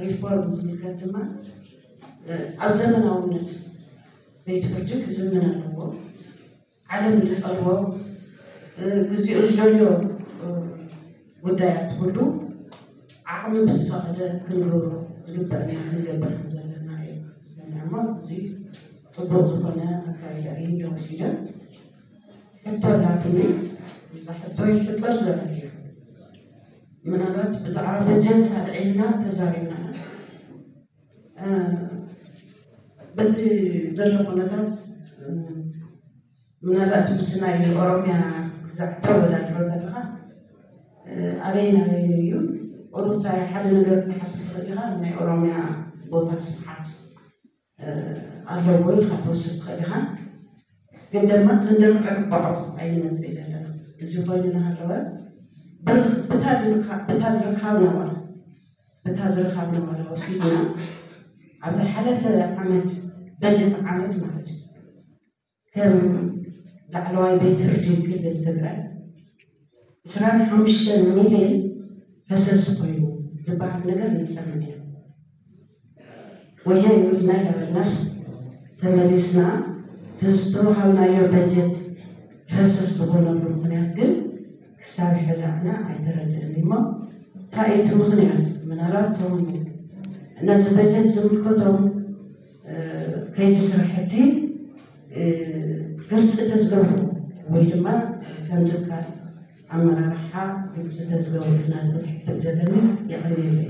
ሪፎርም ዝምልከት ድማ ኣብ ዘመናውነት ቤት ፍርዲ ክዝምን ኣለዎ። ዓለም ዝጠልቦ ግዜኡ ዝደልዮ ጉዳያት ኩሉ ዓቕሚ ብዝፈቐደ ክንገብሮ ዝግበአና ክንገብር ከም ዘለና እየ ዝሰምዕ። እሞ እዚ ፅቡቕ ዝኾነ ኣካይዳ እዩ ወሲደ። ሕቶ ኣላትኒ። እዛ ሕቶ ይሕፅር ዘለት እዩ። ምናልባት ብዛዕባ በጀት ኣልዒልና ተዛሪብና በቲ ዘሎ ኩነታት ምናልባት ምስ ናይ ኦሮምያ ግዛዕ ተወዳድሮ ዘለካ ኣበይ ናበይ እዩ ቁሩብታ ሓደ ነገር ክትሓስብ ትኽእል ኢኻ። ናይ ኦሮምያ ቦታ ስፍሓት ኣለዎ ኢልካ ትወስድ ትኽእል ኢኻ። ግን ድማ ክንደርብዖ ግባዖ ኣይንመፅእ ዘለና። እዚ ኮይኑ እናሃለወ ብታ ዝርካብና ዋላ ብታ ዝርካብና ዋላ ወሲድና ኣብ ዝሓለፈ ዓመት በጀት ዓመት ማለት እዩ ከም ላዕለዋይ ቤት ፍርዲ ክልል ትግራይ ዕስራን ሓሙሽተን ሚልዮን ፈሰስ ኮይኑ ዝበሃል ነገር ንሰምዕ ኢና። ወዮ ይብልና ይነበርናስ ተመሊስና እቲ ዝተወሃብናዮ በጀት ፈሰስ ዝኾነሉ ምኽንያት ግን ክሳብ ሕዚ ኣነ ኣይተረድእን እሞ እንታይ እቲ ምኽንያት ምናልባት ቶም ነዚ በጀት ዝምልከቶም ከይዲ ስራሕቲ ግልፂ ተዝገብሩ ወይ ድማ ከም ትካል ኣመራርሓ ግልፂ ተዝገብሩ ኢልና ዝብል ሕቶ ዘለኒ። የቐንየለይ።